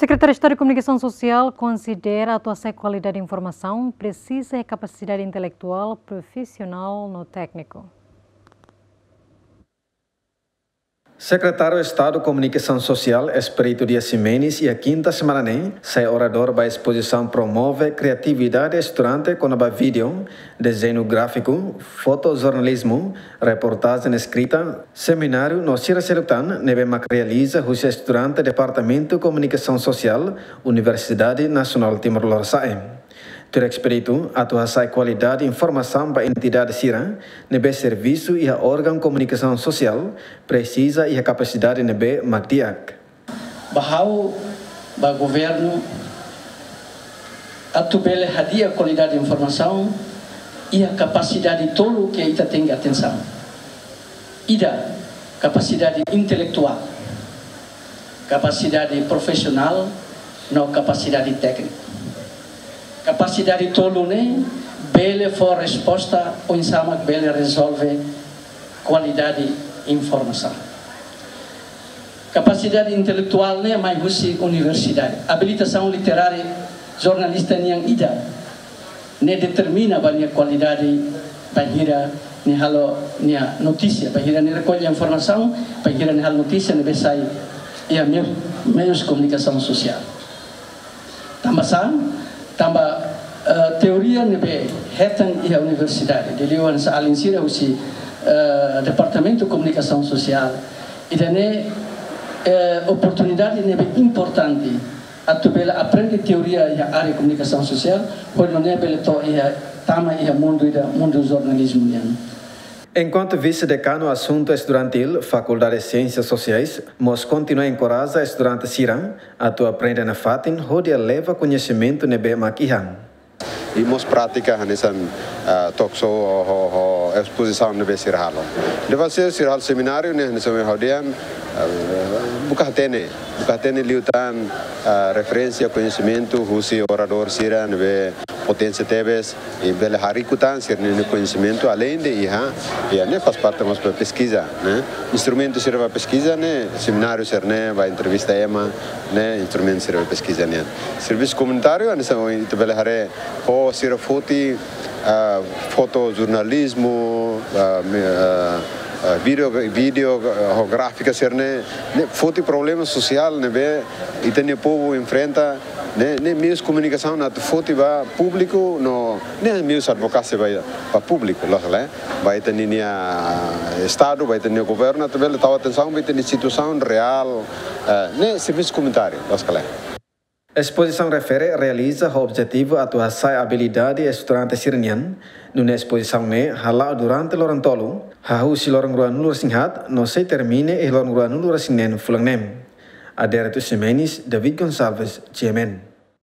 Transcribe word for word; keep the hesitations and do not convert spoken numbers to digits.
Sekretáriu Estadu Komunikasaun Sosiál konsidera atu hasa'e kualidade informasaun presiza iha kapasidade intelektuál, profisionál no tékniku. Sekretáriu Estadu Komunikasaun Sosiál, Expedito Dias Ximenes, iha kinta semana ne'e, sai oradór ba espozisaun promove kriatividade estudante kona-ba vídeo, dezeñu gráfiku, fotojornalizmu, reportajen eskrita, semináriu no sira seluk tan ne'ebé mak realiza husi estudante Departamentu Komunikasaun Sosiál, Universidade Nasionál Timor Lorosa'e. Tuir Expedito, atu hasa'e kualidade informasaun ba entidade sira ne'ebé servisu iha órgaun komunikasaun sosiál, presiza iha kapasidade ne'ebé mak di'ak. Ba ha'u, ba governu, atu bele hadi'a kualidade informasaun, iha kapasidade tolu ke ita tenke atensaun. Ida, kapasidade intelektuál, kapasidade profisionál, no kapasidade tékniku. Kapasidade tolu ne'e bele fó resposta oinsá mak bele rezolve kualidade informasaun. Kapasidade intelektuál ne'e mai husi universidade. Abilitasaun literária jornalista nian ida ne'e determina ba nia kualidade bainhira nia halo nia notísia, bainhira nia rekolla informasaun, bainhira nia halo notísia ne'ebé sai iha meiu, meius komunikasaun sosiál. Tanba sá, tanba, eh, teoria ne'ebé hetan iha universidade, liuliu hanesan alin sira husi, eh, Departamentu Komunikasaun Sosiál, ida-ne'e, eh, oportunidade ne'ebé importante atu bele aprende teoria iha área komunikasaun sosiál, hodi nune'e bele to'o iha, tama iha mundu ida, mundu jornalizmu nian. Enkuantu Vise-Dekanu Asuntu Estudantil, Fakuldade Siénsias Sosiais, mós kontinua enkoraja estudante sira atu aprende nafatin hodi eleva koñesimentu ne'ebé mak iha. I mós prátika hanesan, ah, talk show ho, ho, ho espozisaun ne'ebé sira halo. Depois sira, sira halo semináriu ne'e, hanesan ohin ha'u dehan, ah, buka hatene, buka hatene liután, ah, referénsia koñesimentu husi oradór sira ne'ebé potensia tebes, i bele harii kota sira-nia koñesimentu além de iha, iha ne'e faz parte mós ba peskiza, ne'e? Instrumentu sira ba peskiza ne'e, semináriu sira-ne'e, ba entrevista ema, ne'e, instrumentu sira ba peskiza nian. Servisu komunitáriu, hanesan ohin ita bele haree, ho sira foti, ah, fotojornalizmu, ah, mi-, ah, ah, vídeo, vídeo, ah, ho gráfika sira-ne'e, ne'e foti problema sosiál ne'ebé ita-nia povu enfrenta, ne'e, ne'e meius komunikasaun atu foti ba públiku, no, ne'e meius advokasia ba, ba públiku, loos ka lae, ba ita-nia, nia Estadu, ba ita-nia governu, atu bele tau atensaun ba ita-nia situasaun reál, eh, ne'e servisu komunitáriu, loos ka lae. Espozisaun refere realiza ho objetivu atu hasa'e abilidade estudante sira-nian, nune'e espozisaun ne'e hala'o durante loron tolu, hahú husi loron ruanulu resin-haat, no sei termina iha loron ruanulu resin-neen fulan ne'e. Adérito Ximenes, David Gonçalves, G M N.